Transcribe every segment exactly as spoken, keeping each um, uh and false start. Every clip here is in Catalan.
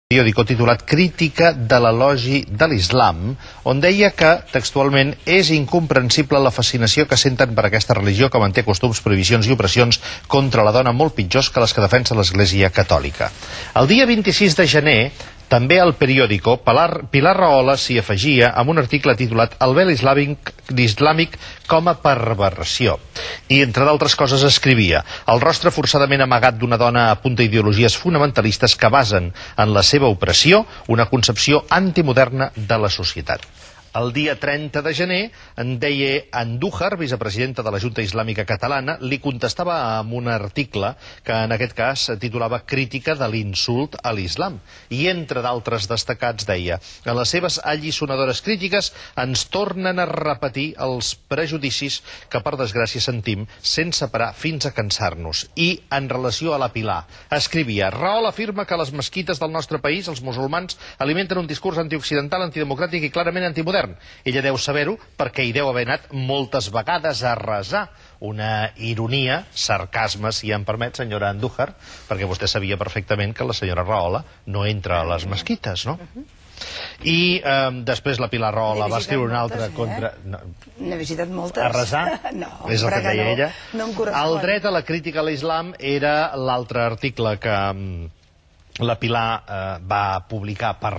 periòdico titulat Crítica de l'elogi de l'Islam, on deia que, textualment, és incomprensible la fascinació que senten per aquesta religió que manté costums, prohibicions i opressions contra la dona molt pitjors que les que defensa l'Església Catòlica. El dia vint-i-sis de gener, també al periòdico, Pilar Rahola s'hi afegia amb un article titulat El vel islàmic, islàmic com a perversió. I, entre d'altres coses, escrivia el rostre forçadament amagat d'una dona apunta ideologies fonamentalistes que basen en la seva opressió una concepció antimoderna de la societat. El dia trenta de gener, en deia Andújar, vicepresidenta de la Junta Islàmica Catalana, li contestava amb un article que en aquest cas titulava Crítica de l'insult a l'islam. I entre d'altres destacats deia en les seves alliçonadores crítiques ens tornen a repetir els prejudicis que per desgràcia sentim sense parar fins a cansar-nos. I en relació a la Pilar, escrivia Rahola afirma que les mesquites del nostre país, els musulmans, alimenten un discurs antioccidental, antidemocràtic i clarament antimodern. Ella deu saber-ho perquè hi deu haver anat moltes vegades a resar. Una ironia, sarcasme, si em permet, senyora Andújar, perquè vostè sabia perfectament que la senyora Rahola no entra a les mesquites, no? I eh, després la Pilar Rahola va escriure una altra contra... N'he visitat moltes. A resar? No. És el que deia ella. No em correspon. El dret a la crítica a l'islam era l'altre article que la Pilar va publicar per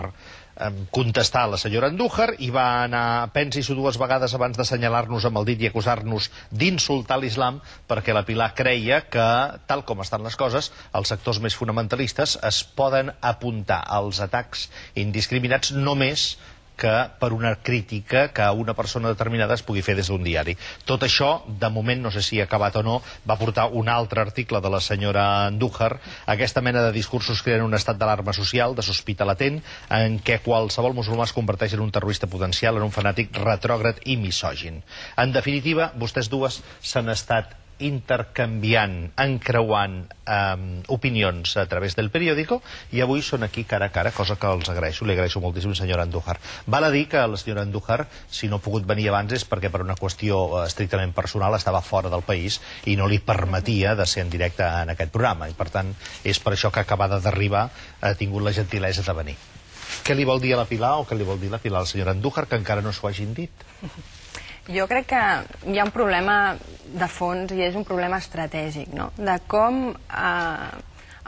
contestar a la senyora Andújar i va anar, pensi-s'ho dues vegades abans d'assenyalar-nos amb el dit i acusar-nos d'insultar l'islam, perquè la Pilar creia que, tal com estan les coses, els sectors més fonamentalistes es poden apuntar als atacs indiscriminats només que per una crítica que una persona determinada es pugui fer des d'un diari. Tot això, de moment, no sé si ha acabat o no, va portar un altre article de la senyora Andújar, aquesta mena de discursos creen un estat d'alarma social, de sospita latent, en què qualsevol musulmà es converteix en un terrorista potencial, en un fanàtic retrògrad i misògin. En definitiva, vostès dues s'han estat intercanviant, encreuant eh, opinions a través del periòdico i avui són aquí cara a cara, cosa que els agraeixo, li agraeixo moltíssim, senyora Andújar. Val a dir que la senyora Andújar, si no ha pogut venir abans és perquè per una qüestió estrictament personal estava fora del país i no li permetia de ser en directe en aquest programa i per tant és per això que acabada d'arribar ha tingut la gentilesa de venir. Què li vol dir a la Pilar o què li vol dir la Pilar a la senyora Andújar que encara no s'ho hagin dit? Jo crec que hi ha un problema de fons i és un problema estratègic, no? De com eh,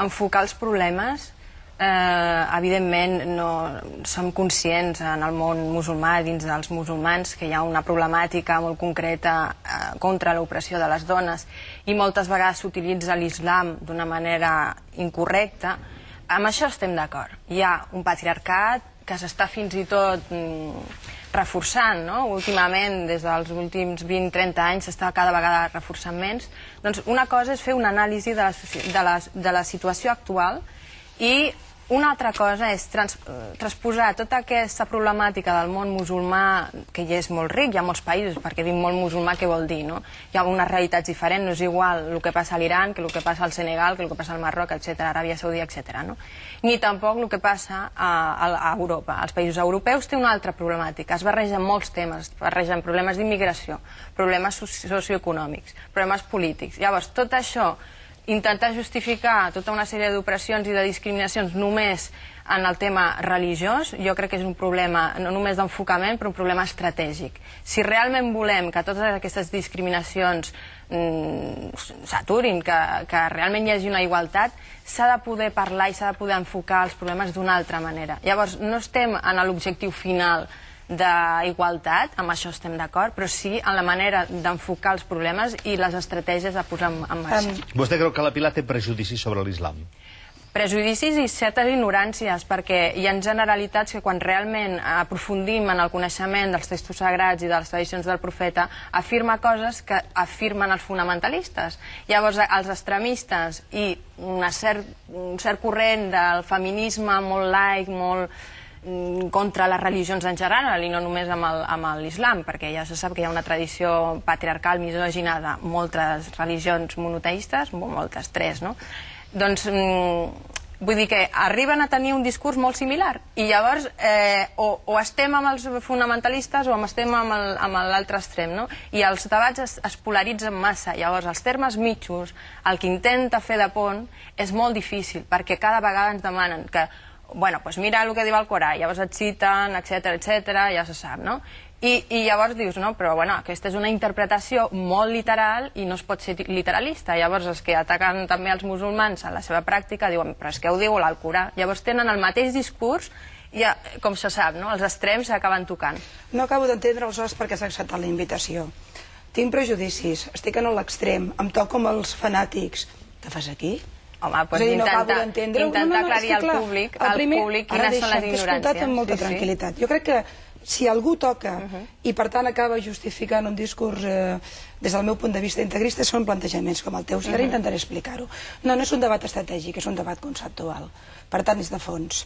enfocar els problemes. Eh, evidentment no som conscients en el món musulmà, dins dels musulmans, que hi ha una problemàtica molt concreta eh, contra l'opressió de les dones i moltes vegades s'utilitza l'islam d'una manera incorrecta. Amb això estem d'acord. Hi ha un patriarcat que s'està fins i tot mm, reforçant, no? Últimament, des dels últims vint trenta anys, s'està cada vegada reforçant menys. Doncs una cosa és fer una anàlisi de la, de la, de la situació actual i una altra cosa és trans, transposar tota aquesta problemàtica del món musulmà, que ja és molt ric, hi ha molts països, perquè dir molt musulmà què vol dir, no? Hi ha unes realitats diferents, no és igual el que passa a l'Iran, que el que passa al Senegal, que el que passa al Marroc, etcètera, Aràbia Saudita, etcètera, no? Ni tampoc el que passa a, a Europa. Els països europeus té una altra problemàtica, es barregen molts temes, es barregen problemes d'immigració, problemes socioeconòmics, problemes polítics. Llavors, tot això, intentar justificar tota una sèrie d'opressions i de discriminacions només en el tema religiós, jo crec que és un problema no només d'enfocament, però un problema estratègic. Si realment volem que totes aquestes discriminacions mm, s'aturin, que, que realment hi hagi una igualtat, s'ha de poder parlar i s'ha de poder enfocar els problemes d'una altra manera. Llavors, no estem en l'objectiu final d'igualtat, amb això estem d'acord, però sí en la manera d'enfocar els problemes i les estratègies a posar en marxa. Vostè creu que la Pilar té prejudicis sobre l'islam? Prejudicis i certes ignoràncies, perquè hi ha generalitats que quan realment aprofundim en el coneixement dels textos sagrats i de les tradicions del profeta, afirma coses que afirmen els fonamentalistes. Llavors, els extremistes i una cert, un cert corrent del feminisme molt laic, molt contra les religions en general i no només amb l'islam, perquè ja se sap que hi ha una tradició patriarcal misògina de moltes religions monoteistes, moltes, tres, no? Doncs vull dir que arriben a tenir un discurs molt similar i llavors eh, o, o estem amb els fonamentalistes o estem amb l'altre extrem, no? I els debats es, es polaritzen massa. Llavors els termes mitjos, el que intenta fer de pont és molt difícil perquè cada vegada ens demanen que bueno, doncs mira el que diu el Corà, llavors et citen, etcètera, etcètera, ja se sap, no? I, i llavors dius, no, però bueno, aquesta és una interpretació molt literal i no es pot ser literalista. Llavors els que ataquen també els musulmans en la seva pràctica diuen, però és que ho diu l'Alcorà. Llavors tenen el mateix discurs i, com se sap, no? Els extrems s'acaben tocant. No acabo d'entendre aleshores per què s'ha acceptat la invitació. Tinc prejudicis, estic en l'extrem, em toco com els fanàtics. Què fas aquí? Home, doncs intenta, intenta aclarir al públic, al públic quines són les ignoràncies. Ara escoltat amb molta tranquil·litat. Jo crec que si algú toca i per tant acaba justificant un discurs des del meu punt de vista integrista, són plantejaments com el teu, i ara intentaré explicar-ho. No, no és un debat estratègic, és un debat conceptual, per tant és de fons.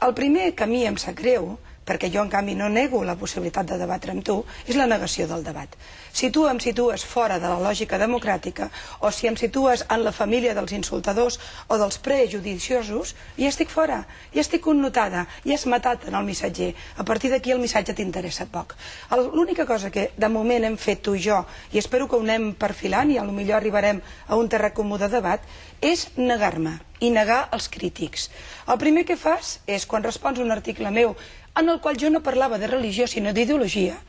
El primer que a mi em sap greu, perquè jo en canvi no nego la possibilitat de debatre amb tu, és la negació del debat. Si tu em situes fora de la lògica democràtica o si em situes en la família dels insultadors o dels prejudiciosos, ja estic fora, ja estic connotada, ja has matat en el missatger. A partir d'aquí el missatge t'interessa poc. L'única cosa que de moment hem fet tu i jo, i espero que ho anem perfilant i potser arribarem a un terreny comú de debat, és negar-me i negar els crítics. El primer que fas és, quan respons un article meu en el qual jo no parlava de religió sinó d'ideologia,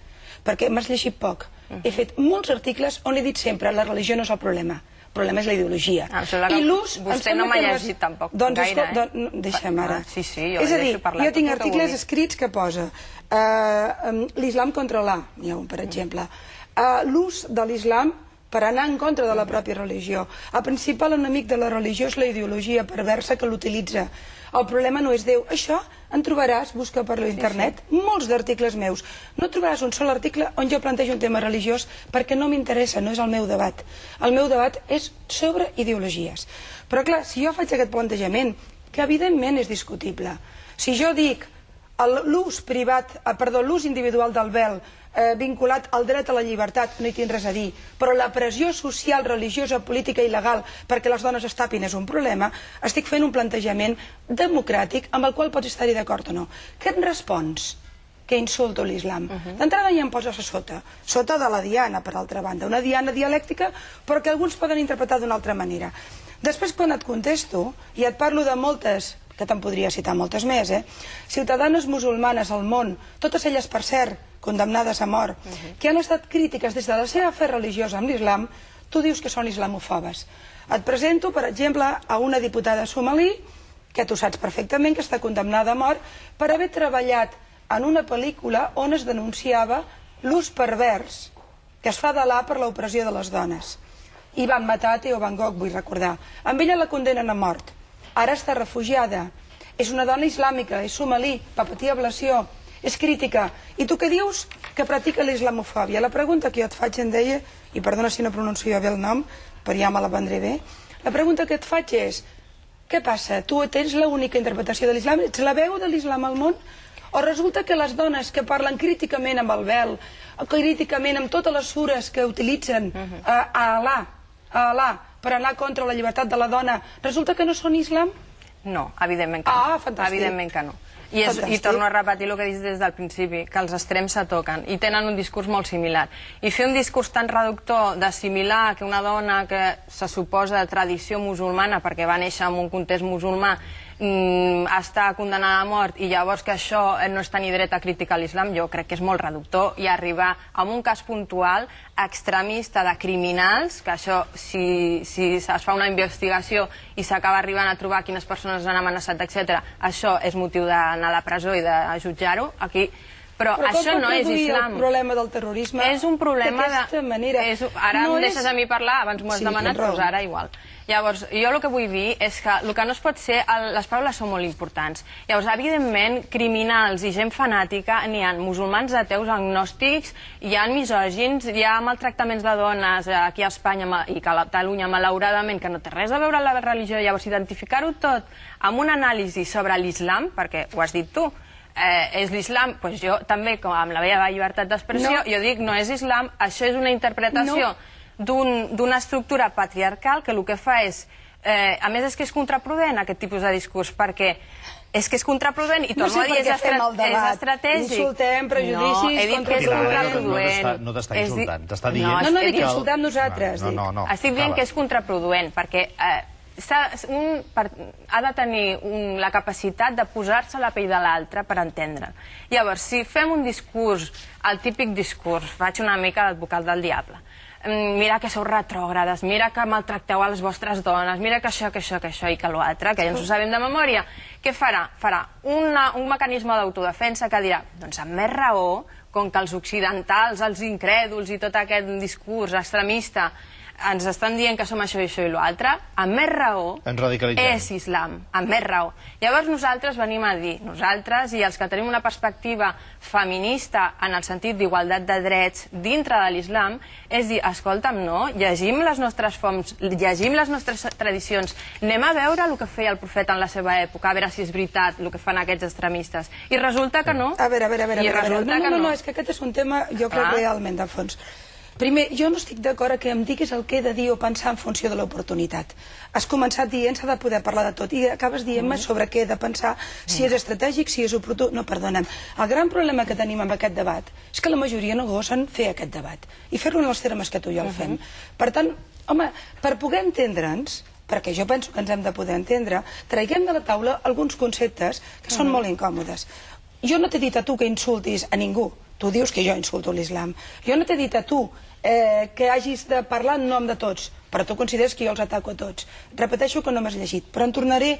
perquè m'has llegit poc, he fet molts articles on he dit sempre la religió no és el problema, el problema és la ideologia. I l'ús... Vostè no m'ha llegit tampoc gaire, eh? Deixa'm ara. Sí, sí, jo és a dir, jo tinc articles escrits que posa l'islam contra l'A, n'hi ha un per exemple, l'ús de l'islam per anar en contra de la pròpia religió. El principal enemic de la religió és la ideologia perversa que l'utilitza. El problema no és Déu. Això en trobaràs, busca per l'internet, molts d'articles meus. No trobaràs un sol article on jo plantejo un tema religiós perquè no m'interessa, no és el meu debat. El meu debat és sobre ideologies. Però clar, si jo faig aquest plantejament, que evidentment és discutible, si jo dic l'ús privat, perdó, l'ús individual del vel vinculat al dret a la llibertat, no hi tinc res a dir, però la pressió social, religiosa, política i legal perquè les dones es tapin és un problema, estic fent un plantejament democràtic amb el qual pots estar-hi d'acord o no. Què et respons? Que insulto l'islam. D'entrada ja em poses a sota, sota de la diana, per altra banda, una diana dialèctica, però que alguns poden interpretar d'una altra manera. Després, quan et contesto, i et parlo de moltes, que te'n podria citar moltes més, eh? ciutadanes musulmanes al món, totes elles, per cert, condemnades a mort, que han estat crítiques des de la seva fe religiosa amb l'islam, tu dius que són islamofobes. Et presento, per exemple, a una diputada somalí, que tu saps perfectament que està condemnada a mort, per haver treballat en una pel·lícula on es denunciava l'ús pervers que es fa de l'A per l'opressió de les dones. I van matar a Theo Van Gogh, vull recordar. Amb ella la condenen a mort. Ara està refugiada. És una dona islàmica, és somalí, va patir ablació, és crítica. I tu què dius? Que practica l'islamofòbia. La pregunta que jo et faig, em deia, i perdona si no pronuncio bé el nom, però ja me la prendré bé, la pregunta que et faig és, què passa? Tu tens l'única interpretació de l'islam? Ets la veu de l'islam al món? O resulta que les dones que parlen críticament amb el vel, críticament amb totes les sures que utilitzen a Alà, a Alà, per anar contra la llibertat de la dona, resulta que no són islam? No, evidentment que no. Ah, fantàstic. Evidentment que no. I, és, I torno a repetir el que he dit des del principi, que els extrems se toquen i tenen un discurs molt similar. I fer un discurs tan reductor d'assimilar que una dona que se suposa de tradició musulmana, perquè va néixer en un context musulmà, mm, està condenada a mort i llavors que això no és tenir dret a criticar l'islam, jo crec que és molt reductor, i arribar a un cas puntual extremista de criminals, que això, si, si es fa una investigació i s'acaba arribant a trobar quines persones han amenaçat, etcètera, això és motiu d'anar a la presó i de jutjar-ho, aquí... Però, però això no és islam. El problema del terrorisme és un problema d'aquesta manera. És, ara no em deixes és... a mi parlar, abans m'ho has sí, demanat, doncs ara igual. Llavors, jo el que vull dir és que el que no es pot ser, el, les paraules són molt importants. Llavors, evidentment, criminals i gent fanàtica, n'hi ha musulmans, ateus, agnòstics, hi ha misògins, hi ha maltractaments de dones aquí a Espanya i a Catalunya, malauradament, que no té res a veure amb la religió. Llavors, identificar-ho tot amb un anàlisi sobre l'islam, perquè ho has dit tu, Eh, és l'islam, doncs jo també, com amb la meva llibertat d'expressió, no. jo dic, no és islam, això és una interpretació no. d'una estructura patriarcal que el que fa és, eh, a més és que és contraproduent aquest tipus de discurs, perquè és que és contraproduent i torno no sé a dir, és, estra és estratègic. Insultem, prejudicis... No, he dit que és contraproduent. No t'està insultant, t'està dient... No, no dic que insultem nosaltres. No, no, no. Estic dient que és contraproduent, perquè... Eh, un ha de tenir la capacitat de posar-se a la pell de l'altre per entendre. Llavors, si fem un discurs, el típic discurs, faig una mica d'advocat del diable, mira que sou retrògrades, mira que maltracteu a les vostres dones, mira que això, que això, que això i que l'altre, que ja ens ho sabem de memòria, què farà? Farà un mecanisme d'autodefensa que dirà, doncs amb més raó, com que els occidentals, els incrèduls i tot aquest discurs extremista ens estan dient que som això i això i l'altre, amb més raó és islam, amb més raó. Llavors nosaltres venim a dir, nosaltres i els que tenim una perspectiva feminista en el sentit d'igualtat de drets dintre de l'islam, és dir, escolta'm, no, llegim les nostres fonts, llegim les nostres tradicions, anem a veure el que feia el profeta en la seva època, a veure si és veritat el que fan aquests extremistes. I resulta que no. A veure, a veure, a veure. No, no, no, és que aquest és un tema, jo crec, realment de fons. Primer, jo no estic d'acord que em diguis el que he de dir o pensar en funció de l'oportunitat. Has començat dient s'ha de poder parlar de tot i acabes dient-me sobre què he de pensar, si és estratègic, si és oportú. No, perdona'm. El gran problema que tenim amb aquest debat és que la majoria no gosen fer aquest debat i fer-lo en els termes que tu i jo el fem. Per tant, home, per poder entendre'ns, perquè jo penso que ens hem de poder entendre, traiguem de la taula alguns conceptes que són molt incòmodes. Jo no t'he dit a tu que insultis a ningú. Tu dius que jo insulto l'islam. Jo no t'he dit a tu que hagis de parlar en nom de tots, però tu consideres que jo els ataco a tots. Repeteixo que no m'has llegit, però em tornaré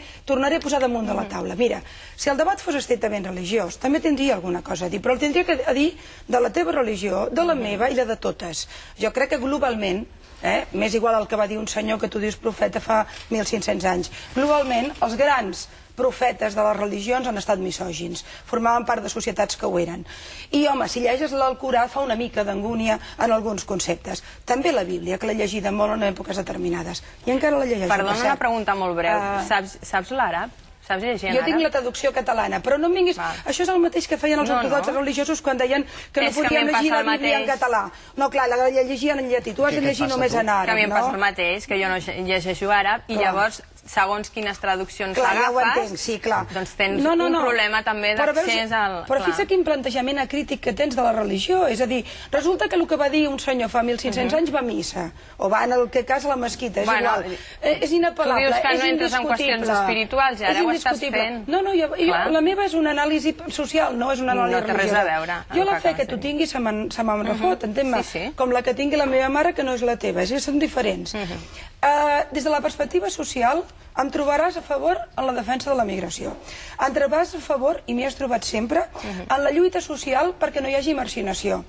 a posar damunt de la taula. Mira, si el debat fos estrictament religiós, també tindria alguna cosa a dir, però el tindria a dir de la teva religió, de la meva i la de totes. Jo crec que globalment, m'és igual el que va dir un senyor que tu dius profeta fa mil cinc-cents anys, globalment els grans profetes de les religions han estat misògins, formaven part de societats que ho eren. I, home, si lleges l'Alcorà fa una mica d'angúnia en alguns conceptes. També la Bíblia, que l'he llegida molt en èpoques determinades. I encara la llegeixo. Perdona una pregunta molt breu. Saps l'àrab? Saps llegir en àrab? Jo tinc la traducció catalana, però no em vinguis... Això és el mateix que feien els ortodoxos religiosos quan deien que no podien llegir la Bíblia en català. No, clar, la llegien en llatí. Tu has de llegir només en àrab, no? Que a mi em passa el mateix, que jo no llegeixo àrab i llavors segons quines traduccions agafes, doncs tens un problema també d'accés al... Però fixa quin plantejament acrític que tens de la religió, és a dir, resulta que el que va dir un senyor fa mil cinc-cents anys va a missa, o va en el que cas a la mesquita, és igual. És inapel·lable, és indiscutible. Tu dius que no entres en qüestions espirituals i ara ho estàs fent. No, no, la meva és una anàlisi social, no és una anàlisi religiosa. No té res a veure. Jo la fe que tu tinguis se me'n refot, entén-me? Com la que tingui la meva mare, que no és la teva, són diferents. Des de la perspectiva social, em trobaràs a favor en la defensa de la migració. Em trobaràs a favor, i m'hi has trobat sempre, en la lluita social perquè no hi hagi marginació.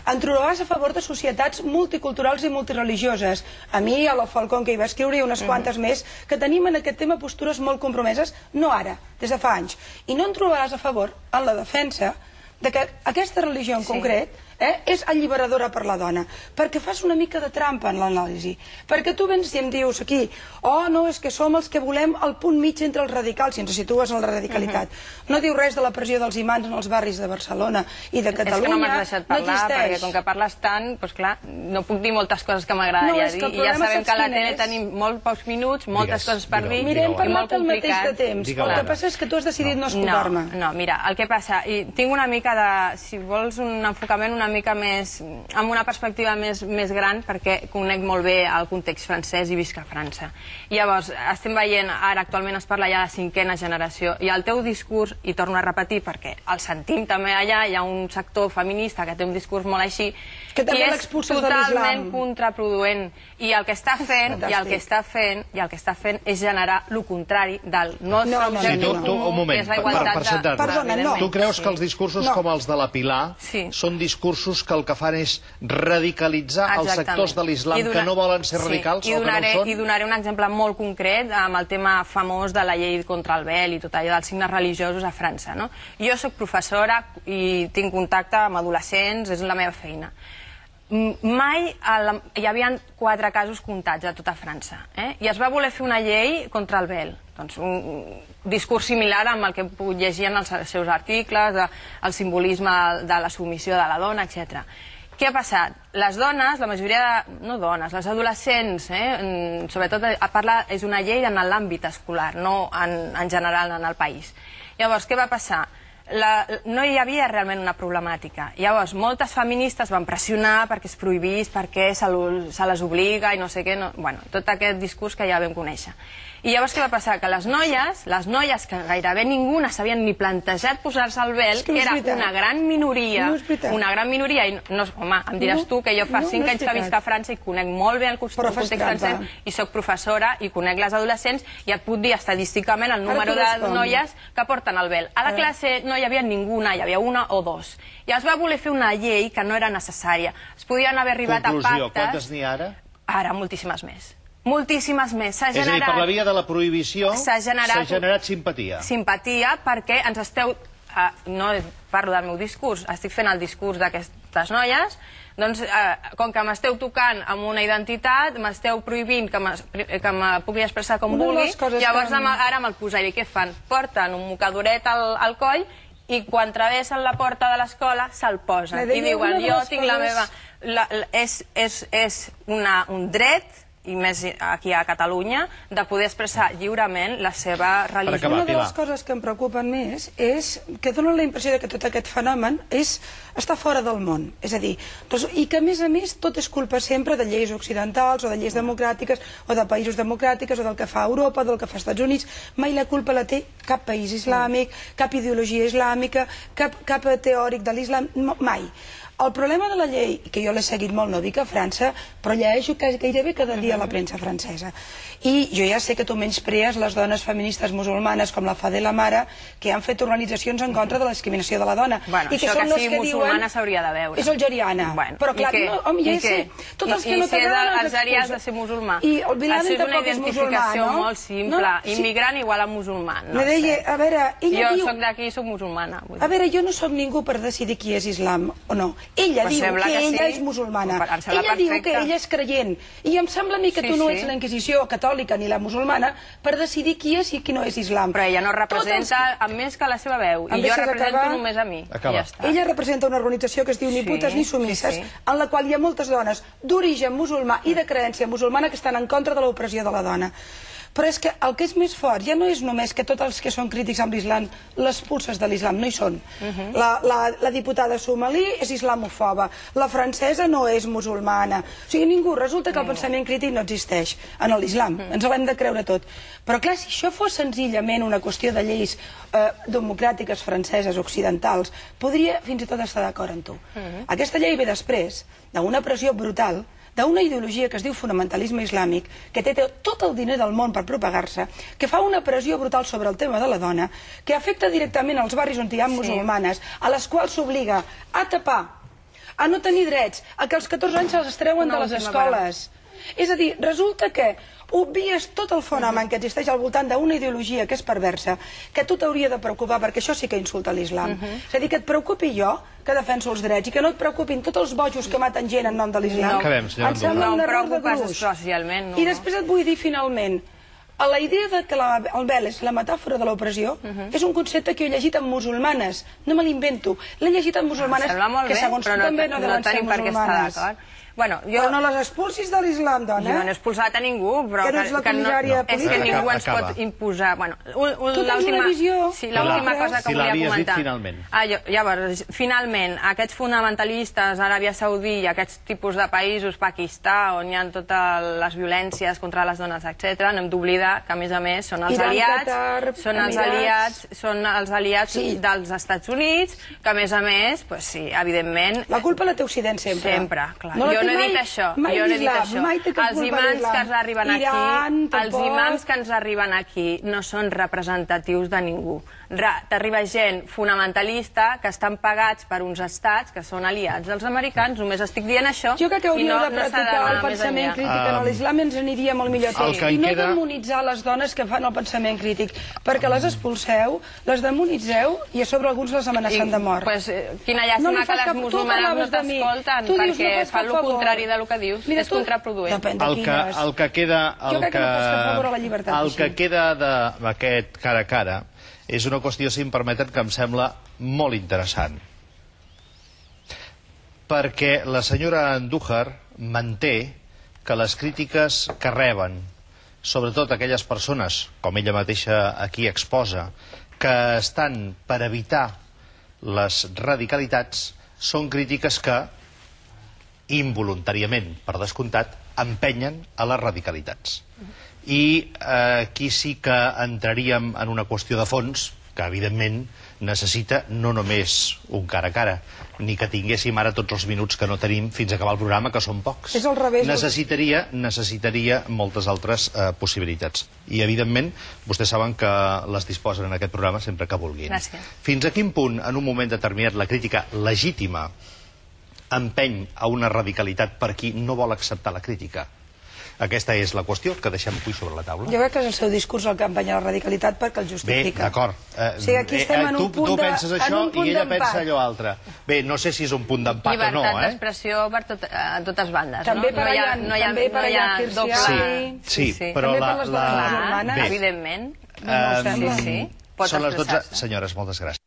Em trobaràs a favor de societats multiculturals i multireligioses. A mi, a la Falcón, que hi va escriure, i unes quantes més, que tenim en aquest tema postures molt compromeses, no ara, des de fa anys. I no em trobaràs a favor en la defensa de que aquesta religió en concret és alliberadora per la dona, perquè fas una mica de trampa en l'anàlisi, perquè tu vens i em dius aquí, oh no, és que som els que volem el punt mig entre els radicals, si ens situes en la radicalitat. No diu res de la pressió dels imants en els barris de Barcelona i de Catalunya. És que no m'has deixat parlar, perquè com que parles tant, doncs clar, no puc dir moltes coses que m'agradaria dir, i ja sabem que a la tele tenim molt pocs minuts, moltes coses per dir, i molt complicat. Mirem, parlat al mateix de temps, el que passa és que tu has decidit no escoltar-me. No, mira, el que passa, i tinc una mica de, si vols un enfocament una mica més, amb una perspectiva més gran, perquè conec molt bé el context francès i visc a França. Llavors, estem veient, ara actualment es parla ja de cinquena generació, i el teu discurs, i torno a repetir, perquè el sentim també allà, hi ha un sector feminista que té un discurs molt així, i és totalment contraproduent. I el que està fent, i el que està fent, i el que està fent és generar el contrari del nostre objectiu comú, que és la igualtat de... Perdona, no. Tu creus que els discursos com els de la Pilar són discursos que el que fan és radicalitzar els sectors de l'islam que no volen ser radicals o que no ho són? I donaré un exemple molt concret amb el tema famós de la llei contra el vel i tot allò dels signes religiosos a França. Jo soc professora i tinc contacte amb adolescents, és la meva feina. Mai hi havia quatre casos comptats a tota França i es va voler fer una llei contra el vel, un discurs similar amb el que puc llegir en els seus articles, el simbolisme de la submissió de la dona, etcètera. Què ha passat? Les dones, la majoria de... no dones, les adolescents, sobretot és una llei en l'àmbit escolar, no en general en el país. Llavors, què va passar? No hi havia realment una problemàtica. Llavors, moltes feministes van pressionar perquè es prohibís, perquè se les obliga i no sé què, bueno, tot aquest discurs que ja vam conèixer. I llavors què va passar? Que les noies, les noies que gairebé ningú no s'havien ni plantejat posar-se el vel, que era una gran minoria, una gran minoria, i no, home, em diràs tu que jo fa cinc anys que visc a França i conec molt bé el context francès i soc professora i conec les adolescents i et puc dir estadísticament el número de noies que porten el vel. A la classe no hi havia ninguna, hi havia una o dos. I es va voler fer una llei que no era necessària. Es podien haver arribat a pactes... Conclusió, quantes n'hi ha ara? Ara, moltíssimes més. Moltíssimes més. És a dir, per la via de la prohibició s'ha generat simpatia. Simpatia perquè ens esteu... No parlo del meu discurs, estic fent el discurs d'aquestes noies, doncs com que m'esteu tocant amb una identitat, m'esteu prohibint que me pugui expressar com vulgui, llavors ara me'l posaré. Què fan? Porten un mocadoret al coll i quan travessen la porta de l'escola se'l posen i diuen jo tinc la meva... És un dret, i més aquí a Catalunya, de poder expressar lliurement la seva religió. Una de les coses que em preocupen més és que donen la impressió que tot aquest fenomen està fora del món. És a dir, i que a més a més tot és culpa sempre de lleis occidentals o de lleis democràtiques o de països democràtics o del que fa Europa, del que fa Estats Units. Mai la culpa la té cap país islàmic, cap ideologia islàmica, cap teòric de l'islam, mai. El problema de la llei, que jo l'he seguit molt, no dic a França, però llegeixo gairebé cada dia a la premsa francesa. I jo ja sé que tu menysprees les dones feministes musulmanes com la Fadela Mara, que han fet organitzacions en contra de la discriminació de la dona. Bueno, això que sigui musulmana s'hauria de veure. És algeriana. Però clar, home, ja sé. I si és algerià has de ser musulmà. Això és una identificació molt simple. Immigrant igual a musulmà. A veure, ella diu... Jo soc d'aquí i soc musulmana. A veure, jo no soc ningú per decidir qui és islam o no. Ella diu que ella és musulmana. Ella diu que ella és creient. I em sembla a mi que tu no ets la Inquisició catòlica ni la musulmana per decidir qui és i qui no és islam. Però ella no representa més que la seva veu. I jo represento només a mi. Ella representa una organització que es diu Ni putes ni sumisses, en la qual hi ha moltes dones d'origen musulmà i de creència musulmana que estan en contra de l'opressió de la dona. Però és que el que és més fort ja no és només que tots els que són crítics amb l'islam, les pulses de l'islam no hi són. La diputada somalí és islamofoba, la francesa no és musulmana. O sigui, ningú, resulta que el pensament crític no existeix en l'islam, ens l'hem de creure tot. Però clar, si això fos senzillament una qüestió de lleis democràtiques franceses, occidentals, podria fins i tot estar d'acord amb tu. Aquesta llei ve després d'una pressió brutal d'una ideologia que es diu fonamentalisme islàmic, que té tot el diner del món per propagar-se, que fa una pressió brutal sobre el tema de la dona, que afecta directament als barris on hi ha musulmanes, a les quals s'obliga a tapar, a no tenir drets, a que als catorze anys se'ls treuen de les escoles. És a dir, resulta que obvies tot el fenomen que existeix al voltant d'una ideologia que és perversa, que a tu t'hauria de preocupar, perquè això sí que insulta l'islam. És a dir, que et preocupi jo, que defenso els drets, i que no et preocupin tots els bojos que maten gent en nom de l'islam. Em sembla un error de gruix. I després et vull dir, finalment, la idea que el vel és la metàfora de l'opressió és un concepte que he llegit en musulmanes, no me l'invento, l'he llegit en musulmanes que segons tu també no deuen ser musulmanes. Però no les expulsis de l'islam, dona. Jo no he expulsat a ningú, però... Que no ets la comissària política. És que ningú ens pot imposar... Tu tens una visió... Sí, l'última cosa que volia comentar. Si l'havies dit finalment. Llavors, finalment, aquests fonamentalistes, Aràbia Saudí i aquests tipus de països, Pakistà, on hi ha totes les violències contra les dones, etcètera, no hem d'oblidar que, a més a més, són els aliats, són els aliats, són els aliats dels Estats Units, que, a més a més, sí, evidentment... La culpa la té Occident sempre. Sempre, clar. Jo no he dit això, jo no he dit això. Els imams que ens arriben aquí, els imams que ens arriben aquí no són representatius de ningú. T'arriba gent fonamentalista que estan pagats per uns estats que són aliats dels americans, només estic dient això. Jo crec que hauríeu de practicar el pensament crític en l'islam i ens aniria molt millor tot. I no demonitzar les dones que fan el pensament crític, perquè les expulseu, les demonitzeu i a sobre alguns les amenacen de mort. Quina llàstima que les musulmanes no t'escolten, perquè fan el contrari del que dius, és contraproduent. El que queda... Jo crec que no pots fer favor a la llibertat. El que queda d'aquest cara a cara és una qüestió, si em permeten, que em sembla molt interessant. Perquè la senyora Andújar manté que les crítiques que reben, sobretot aquelles persones, com ella mateixa aquí exposa, que estan per evitar les radicalitats, són crítiques que, involuntàriament, per descomptat, empenyen a les radicalitats. i aquí sí que entraríem en una qüestió de fons, que evidentment necessita no només un cara a cara, ni que tinguéssim ara tots els minuts que no tenim fins a acabar el programa, que són pocs. És al revés. Necessitaria, necessitaria moltes altres eh, possibilitats. I, evidentment, vostès saben que les disposen en aquest programa sempre que vulguin. Gràcies. Fins a quin punt, en un moment determinat, la crítica legítima empeny a una radicalitat per qui no vol acceptar la crítica? Aquesta és la qüestió que deixem avui sobre la taula. Jo crec que és el seu discurs el que empenya la radicalitat perquè el justifica. Bé, d'acord. O sigui, aquí estem en un punt tu penses això i ella pensa allò altre. Bé, no sé si és un punt d'empat o no, Llibertat eh? d'expressió per a totes bandes, no? També per allà, també per allà, doble... Sí, però la... També per les dones germanes, evidentment. No, no ho sembla. Sí, sí, pot Són les dotze. expressar-se. Senyores, moltes gràcies.